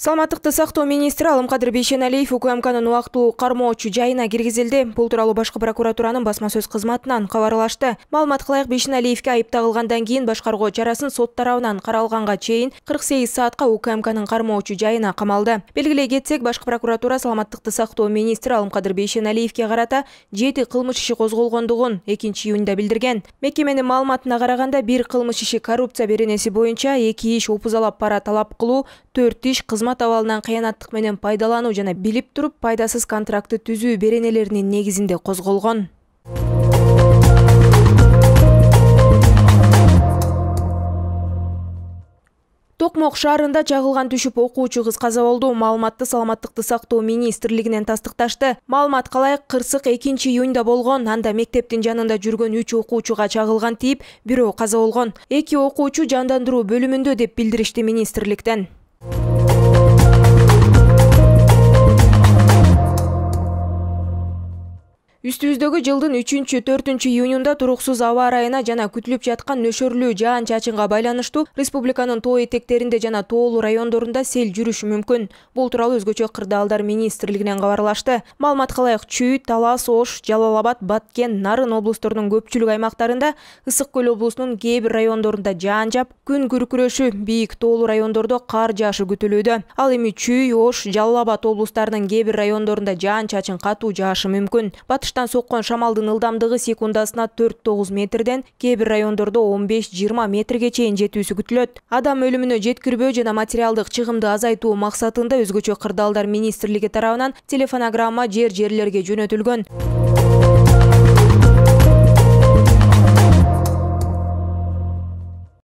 Саламаттыкты сактоо министри Алымкадыр Бейшеналиев УКМКнын убактылуу кармоочу жайына киргизилди. Бул тууралуу башкы прокуратуранын басма сөз кызматынан кабарлашты. Маалыматка ылайык Бейшеналиевге айып тагылгандан кийин башкаруу чарасын сот тарабынан каралганга чейин 48 саатка УКМКнын кармоочу жайына камалды. Белгилей кетсек, башкы прокуратура Саламаттыкты сактоо министри Алымкадыр Бейшеналиевге карата 7 кылмыш иши козголгондугун 2-июнда билдирген. Мекеменин маалыматына караганда, 1 кылмыш иши коррупция беренеси боюнча, 2 иш опузалап пара талап кылуу, 4 иш кызмат абалынан кыянаттык менен пайдалануу жана билип туруп пайдасыз контрактты түзүү беренелеринин негизинде козголгон. Токмок шаарында чагылган түшүп окуучу кыз каза болду. Маалыматты Саламаттыкты сактоо министрлигинен тастыкташты. Маалыматка ылайык, кырсык 2-июнда болгон. Анда мектептин жанында жүргөн 3 окуучуга чагылган тийип, бирөө каза болгон. 2 окуучу жандандыруу бөлүмүндө деп билдиришти министрликтен. Үстүбүздөгү жылдын 3-4 июнунда туруксуз аба ырайына жана күтүлүп жаткан нөшөрлүү жаан-чачынга байланыштуу республиканын тоо этектеринде жана тоолуу райондорунда сел жүрүшү мүмкүн. Бул тууралуу Өзгөчө кырдаалдар министрлигинен кабарлашты. Маалыматка ылайык, Чүй, Талас, Ош, Жалал Абад, Баткен, Нарын облусторунун көпчүлүк аймактарында, Ысык Көл облусунун кээ бир райондорунда жаан жаап, күн күркүрөшү, бийик тоолуу райондордо кар жаашы күтүлүүдө. Ал эми Чүй, Ош, Жалал Абад облустарынын кээ бир райондорунда жаан-чачын катуу жаашы мүмкүн. Батыштан соккон шамалдын ылдамдыгы секундасына 4-9 метрден, кээ бир райондордо 15-20 метрге чейин жетүүсү күтүлөт. Адам өлүмүнө жеткирбөө жана материалдык чыгымды азайтуу максатында Өзгөчө кырдаалдар министрлиги тарабынан телефонограмма жерлерге жөнөтүлгөн.